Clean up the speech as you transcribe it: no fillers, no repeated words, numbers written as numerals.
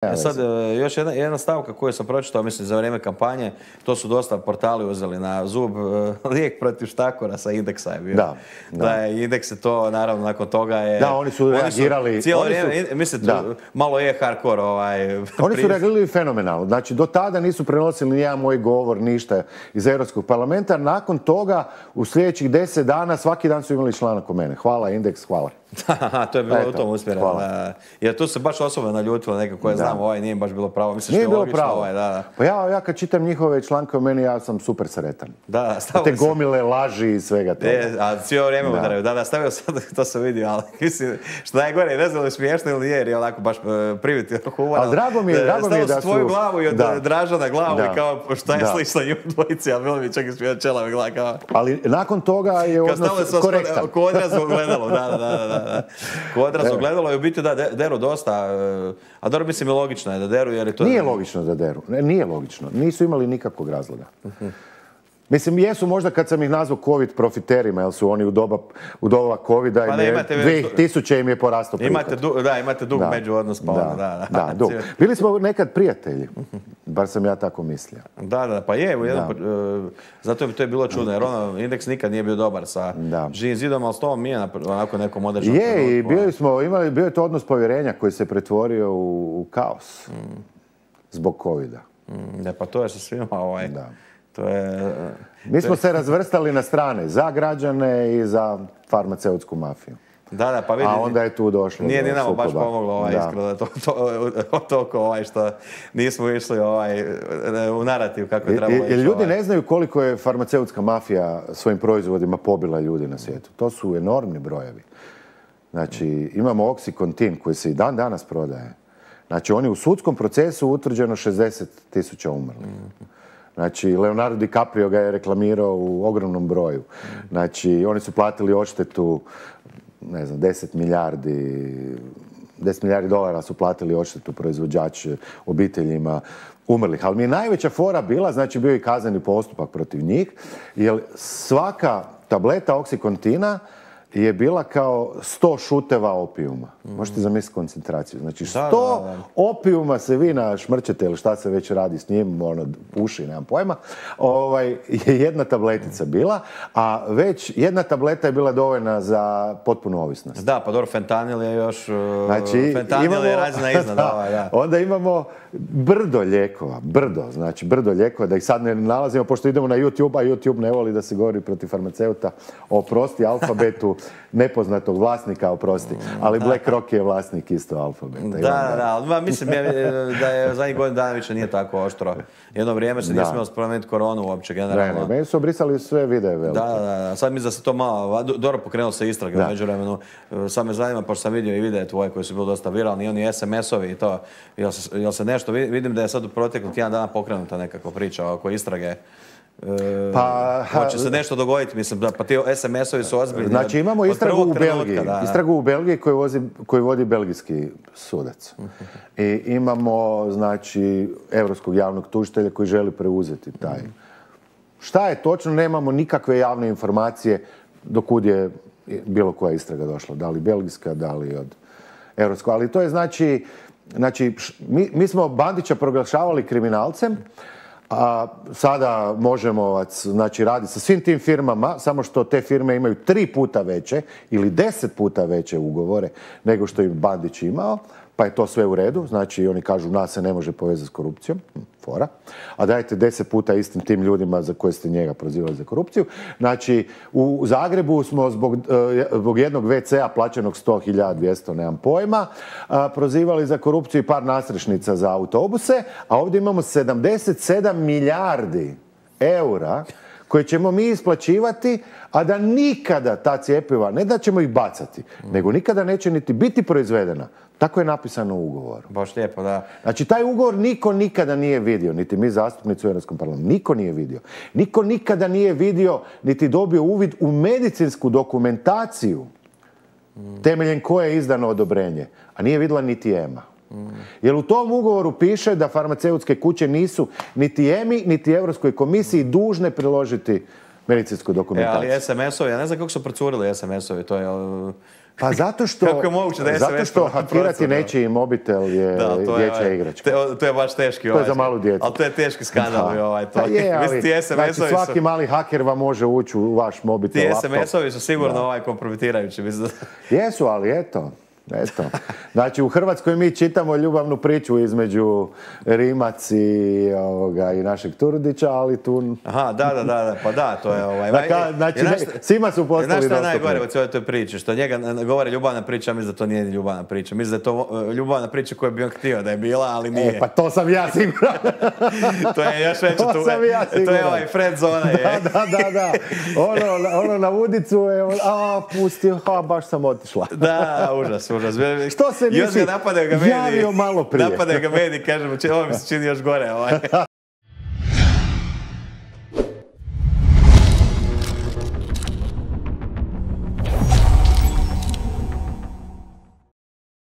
Sad, još jedna stavka koju sam pročitao, mislim, za vrijeme kampanje, to su dosta portali uzeli na zub, lijek protiv štakora sa Indeksa je bio. Da je Indeks je to, naravno, nakon toga je... Da, oni su reagirali... Cijelo vrijeme, mislim, malo je hardcore Oni su reagirali fenomenalno. Znači, do tada nisu prenosili nijedan moj govor, ništa iz Europskog parlamenta. Nakon toga, u sljedećih 10 dana, svaki dan su imali članak o mene. Hvala, Indeks, hvala. To je bilo u tom usmjereno. Jer tu se baš osoba naljutila neka koja znam, nije baš bilo pravo. Mislim što je logično. Pa ja kad čitam njihove članke o meni, ja sam super sretan. Te gomile laži i svega toga. A cijelo vrijeme udaraju. Da, stavio sam, to sam vidio, ali mislim, što najgore, ne znam li smiješno ili nije, jer je onako baš priviti humor. Ali drago mi je da su... Stavio sam tvoju glavu i od Dražana glavu i kao šta je slično njim dvojici, ali bilo mi čak i smijao čelave glava kao... Ali nakon toga je odnos korektan. Ko odraz ogledalo, da. Ko odraz ogledalo i u biti da deru dosta, a dobro mislim i logično je da deru jer je to... Nije logično da deru, nije logično, nisu imali nikakvog razloga. Mislim, jesu možda kad sam ih nazvao COVID profiterima, jer su oni u doba COVID-a i 2000 im je porastao prihod. Imate dug međuodnos, pa ono, da. Dug. Bili smo nekad prijatelji, bar sam ja tako mislio. Da, pa je, zato to je bilo čudno, jer Indeks nikad nije bio dobar sa Živim zidom, ali s tobom nije onako nekom određenom trenutku. Je, i bio je to odnos povjerenja koji se pretvorio u kaos zbog COVID-a. Pa to je sa svima Mi smo se razvrstali na strane, za građane i za farmaceutsku mafiju. Da, pa vidi. A onda je tu došlo nije ni nama baš pomoglo iskreno da toliko što nismo išli u narativ kako je trebalo ići. Ljudi ne znaju koliko je farmaceutska mafija svojim proizvodima pobila ljudi na svijetu. To su enormni brojevi. Znači, imamo Oxycontin koji se i dan danas prodaje. Znači, oni u sudskom procesu utvrđeno 60.000 umrlih. Znači, Leonardo DiCaprio ga je reklamirao u ogromnom broju. Znači, oni su platili odštetu, ne znam, 10 milijardi dolara su platili odštetu proizvođači obiteljima umrlih. Ali mi je najveća fora bila, znači bio je i kazneni postupak protiv njih, jer svaka tableta Oxycontina je bila kao 100 šuteva opijuma. Možete zamisliti koncentraciju. Znači 100 opijuma se vi našmrčete ili šta se već radi s njim, puši, nemam pojma, je jedna tabletica bila, a već jedna tableta je bila dovoljna za potpunu ovisnost. Da, pa dobro, fentanil je još... Fentanil je razina iznad. Onda imamo brdo lijekova, da ih sad ne nalazimo, pošto idemo na YouTube, a YouTube ne voli da se govori protiv farmaceuta, oprosti Alfabetu, nepoznatog vlasnika, oprosti, ali BlackRock je vlasnik isto Alfabeta. Da, mislim da je zadnjih godina dana više nije tako oštro. Jedno vrijeme se nije smjelo spomenuti koronu uopće, generalno. Meni su obrisali sve videe velike. Da, sad mislim da se to malo, dobro pokrenulo se istrage u međuvremenu. Sad me zanima, pošto sam vidio i videe tvoje koji su bili dosta viralni, i oni SMS-ovi i to, jel se nešto, vidim da je sad u proteklih tjedan dana pokrenuta nekako priča oko istrage. Hoće se nešto dogoditi, mislim, pa ti SMS-ovi su ozbiljni. Znači imamo istragu u Belgiji koju vodi belgijski sudac. I imamo, znači, europskog javnog tužitelja koji želi preuzeti taj. Šta je točno, nemamo nikakve javne informacije dokud je bilo koja istraga došla. Da li belgijska, da li od europskog. Ali to je znači, mi smo Bandića proglašavali kriminalcem, a sada možemo raditi sa svim tim firmama, samo što te firme imaju 3 puta veće ili 10 puta veće ugovore nego što je Bandić imao, pa je to sve u redu. Znači, oni kažu, nas se ne može povezati s korupcijom, fora, a dajte 10 puta istim tim ljudima za koje ste njega prozivali za korupciju. Znači, u Zagrebu smo zbog jednog WC-a plaćenog 100.200, nemam pojma, prozivali za korupciju i par nasrešnica za autobuse, a ovdje imamo 77 milijardi eura koje ćemo mi isplaćivati, a da nikada ta cjepiva, ne da ćemo ih bacati, nego nikada neće niti biti proizvedena. Tako je napisano u ugovoru. Baš lijepo, da. Znači, taj ugovor niko nikada nije vidio, niti mi zastupnici u Europskom parlamentu. Niko nije vidio. Niko nikada nije vidio, niti dobio uvid u medicinsku dokumentaciju temeljem koje je izdano odobrenje, a nije vidjela niti EMA. Jer u tom ugovoru piše da farmaceutske kuće nisu niti EMI, niti Europskoj komisiji dužne priložiti medicinsku dokumentaciju. Ali SMS-ovi, ja ne znam kako su procurili SMS-ovi, to je... Pa zato što hakirati nečiji mobitel je dječja igračka. To je baš teški. To je za malu djecu. Ali to je teški skandal. Znači svaki mali haker vam može ući u vaš mobitel, laptop. Ti SMS-ovi su sigurno kompromitirajući. Jesu, ali eto. Znači u Hrvatskoj mi čitamo ljubavnu priču između Rimac i našeg Turudića, ali tu... Aha, da, pa da, to je Znači, svima su postali dostupni. Znaš što je najgore u cijeloj toj priči? Što njega govore ljubavna priča, mislim da to nije ljubavna priča. Mislim da je to ljubavna priča koju bi on htio da je bila, ali nije. Pa to sam ja siguran. To je još veće tu. To je ovaj friend zona. Da. Ono na udicu je, pusti, baš sam otišla. Da, užas. Što se nisi javio malo prije? Napadaju ga mediji, kažemo, ovo mi se čini još gore.